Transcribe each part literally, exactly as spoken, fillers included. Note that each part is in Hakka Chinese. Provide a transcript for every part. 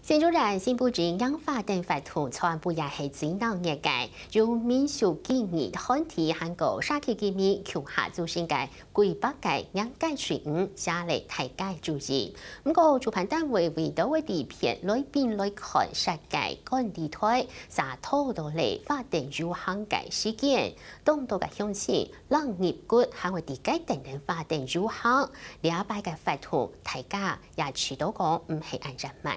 新竹縣新埔鎮迎花燈活動全部也係最鬧熱个，有民俗技藝團體還過社區居民共下組成个幾百个迎界隊伍，寫了大家个主意。毋過主辦單位為到个地片來賓來看設計管理台，就拖到了花燈遊行个時間，當多个鄉親人入骨還會在該等等花燈遊行。這擺个活動，大家也知道講毋係恁樣慢。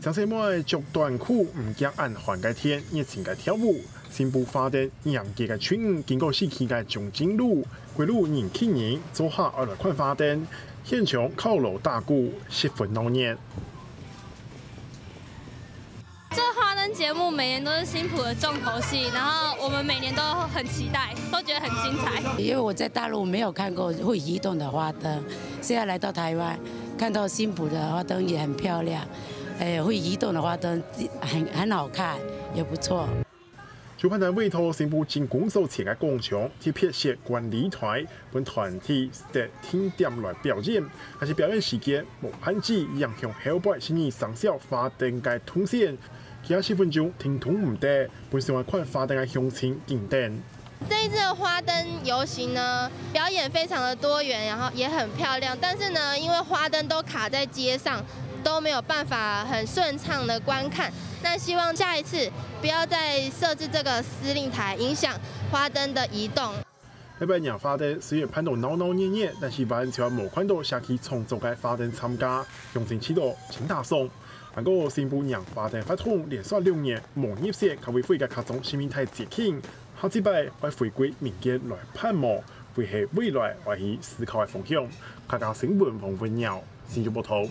青細妹仔著短褲，毋驚恁寒个天，熱情个跳舞。新埔花燈迎界个隊伍經過市區个中正路，歸路人擠人，做下愛來看花燈，現場敲鑼打鼓，十分鬧熱。這花燈節目每年都是新埔的重頭戲，然後我們每年都很期待，都覺得很精彩。因為我在大陸沒有看過會移動的花燈，現在來到台灣，看到新埔的花燈也很漂亮，誒，會移動的花燈很，很好看，也不錯。主辦單位在新埔鎮公所前个廣場特別設觀禮台，分團體設定點來表演，但是表演時間無限制，影響後背十二生肖花燈个動線。其他十分鐘停動毋得，分想愛看花燈个鄉親緊等。 這一次的花燈遊行呢，表演非常的多元，然後也很漂亮。但是呢，因為花燈都卡在街上，都沒有辦法很順暢的觀看。那希望下一次不要再設置這個司令台，影響花燈的移動。這擺迎花燈雖然辦到鬧鬧熱熱，但是完全無看到社區創作个花燈參加，鄉親試著盡打爽。不過新埔迎花燈活動連續六年無入選客委會个客庄市民大節慶， 下一擺會回歸民間來辦無，會係未來愛去思考个方向。客家新聞黃文耀，新竹報導。